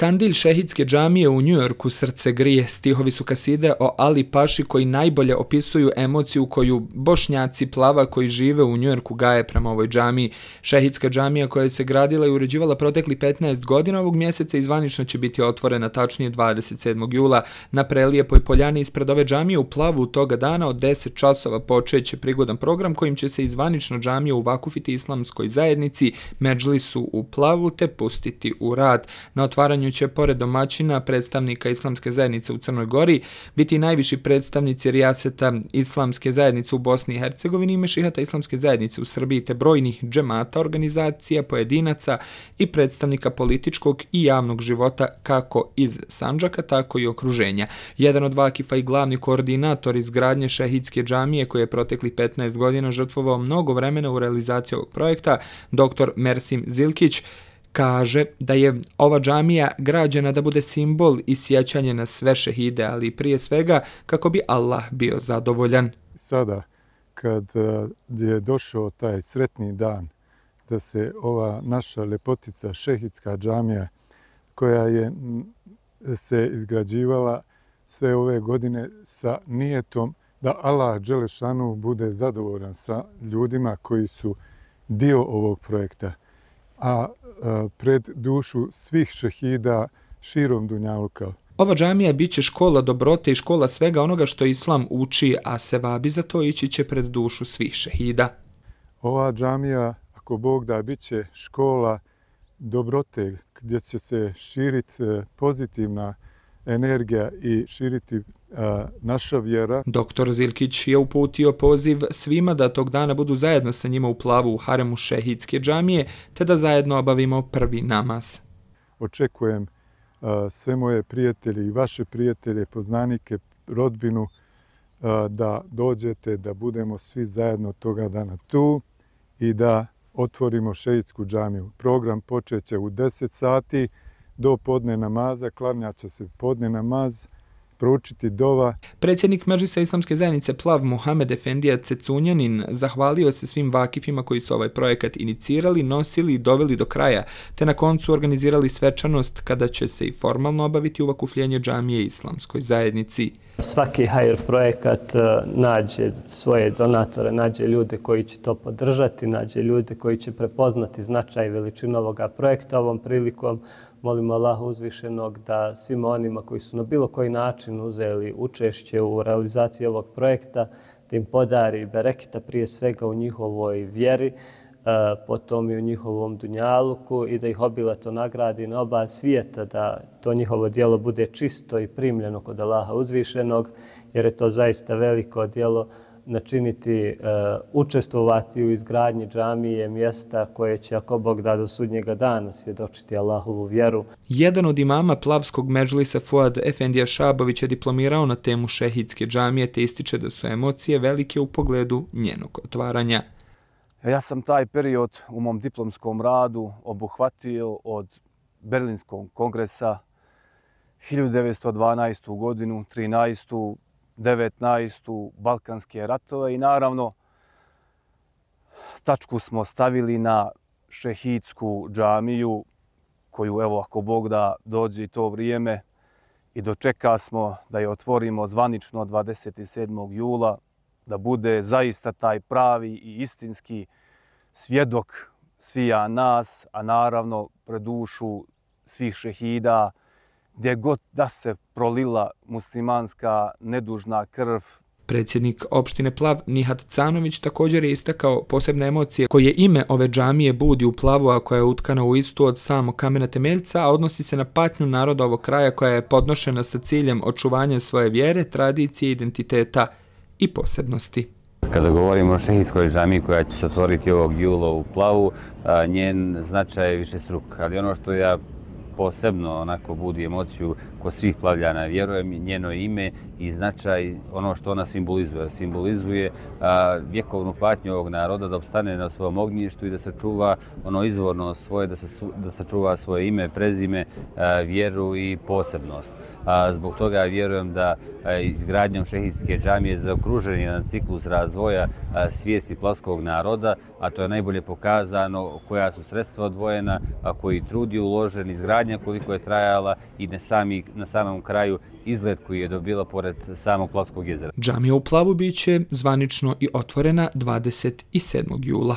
Kandilj šehidske džamije u Njujorku srce grije. Stihovi su kaside o Ali Paši koji najbolje opisuju emociju koju Bošnjaci Plava koji žive u Njujorku gaje prema ovoj džamiji. Šehidska džamija koja se gradila i uređivala protekli 15 godina ovog mjeseca i zvanično će biti otvorena tačnije 27. jula. Na prelijepoj poljani ispred ove džamije u Plavu toga dana od 10 časova počeće prigodan program kojim će se zvanično džamija uvakufiti islamskoj zajednici Medžlisu u Plavu te pustiti u rad. Na otvaranju će pored domaćina predstavnika islamske zajednice u Crnoj Gori biti najviši predstavnici rijaseta islamske zajednice u Bosni i Hercegovini i mešihata islamske zajednice u Srbiji te brojnih džemata, organizacija, pojedinaca i predstavnika političkog i javnog života kako iz Sandžaka, tako i okruženja. Jedan od vakifa i glavni koordinator izgradnje šehidske džamije koji je protekli 15 godina žrtvovao mnogo vremena u realizaciji ovog projekta, dr. Mersim Zilkić, kaže da je ova džamija građena da bude simbol i sjećanje na sve šehide, ali prije svega kako bi Allah bio zadovoljan. Sada, kad je došao taj sretni dan da se ova naša lepotica šehidska džamija koja je se izgrađivala sve ove godine sa nijetom da Allah dželešanu bude zadovoljan sa ljudima koji su dio ovog projekta, a pred dušu svih šehida širom dunjaluka. Ova džamija bit će škola dobrote i škola svega onoga što Islam uči, a sevabi za to ići će pred dušu svih šehida. Ova džamija, ako Bog da, bit će škola dobrote gdje će se širiti pozitivna energija i širiti naša vjera. Dr. Zilkić je uputio poziv svima da tog dana budu zajedno sa njima u Plavu u haremu šehidske džamije, te da zajedno obavimo prvi namaz. Očekujem sve moje prijatelje i vaše prijatelje, poznanike, rodbinu, da dođete, da budemo svi zajedno toga dana tu i da otvorimo šehidsku džamiju. Program počeće u 10 sati do podne namaza, klanjaće se podne namaz, proučiti dova. Predsjednik Medžlisa islamske zajednice Plav Muhamed Efendija Cecunjanin zahvalio se svim vakifima koji su ovaj projekat inicirali, nosili i doveli do kraja, te na koncu organizirali svečanost kada će se i formalno obaviti uvakufljenje džamije islamskoj zajednici. Svaki hajr projekat nađe svoje donatore, nađe ljude koji će to podržati, nađe ljude koji će prepoznati značaj i veličinu ovoga projekta. Ovom prilikom molimo Allaha uzvišenog da svima onima koji su na bilo koji način uzeli učešće u realizaciji ovog projekta, da im podari bereketa prije svega u njihovoj vjeri, potom i u njihovom dunjaluku i da ih obilato nagradi na oba svijeta, da to njihovo djelo bude čisto i primljeno kod Allaha uzvišenog, jer je to zaista veliko djelo načiniti, učestvovati u izgradnji džamije, mjesta koje će, ako Bog da, do sudnjega dana svjedočiti Allahovu vjeru. Jedan od imama Plavskog Medžlisa Fuad Efendija Šabović je diplomirao na temu šehidske džamije te ističe da su emocije velike u pogledu njenog otvaranja. Ja sam taj period u mom diplomskom radu obuhvatio od Berlinskog kongresa 1912. godinu, 13. 19. Balkanske ratove i naravno tačku smo stavili na šehidsku džamiju koju, evo, ako Bog da, dođe to vrijeme i dočeka smo da je otvorimo zvanično 27. jula, da bude zaista taj pravi i istinski svjedok svija nas, a naravno pred dušu svih šehida, gdje god da se prolila muslimanska nedužna krv. Predsjednik opštine Plav Nihat Canović također je istakao posebne emocije koje ime ove džamije budi u Plavu, a koja je utkana u istu od samog kamena temeljca, a odnosi se na patnju naroda ovog kraja koja je podnošena sa ciljem očuvanja svoje vjere, tradicije, identiteta i posebnosti. Kada govorimo o šehidskoj džamiji koja će se otvoriti ovog jula u Plavu, njen značaj je višestruk, ali ono što ja posebno onako budi emociju kod svih Plavljana, vjerujem, njeno ime i značaj, ono što ona simbolizuje. Simbolizuje vjekovnu patnju ovog naroda da opstane na svom ognjištu i da sačuva ono izvorno svoje, da sačuva svoje ime, prezime, vjeru i posebnost. Zbog toga vjerujem da izgradnjom šehidske džamije zaokružen je jedan ciklus razvoja svijesti plavskog naroda, a to je najbolje pokazano koja su sredstva odvojena, a koji trud je uložen, izgradnja izgradnja koliko je trajala i na samom kraju izgled koji je dobila pored samog Plavskog jezera. Džamija u Plavu biće zvanično i otvorena 27. jula.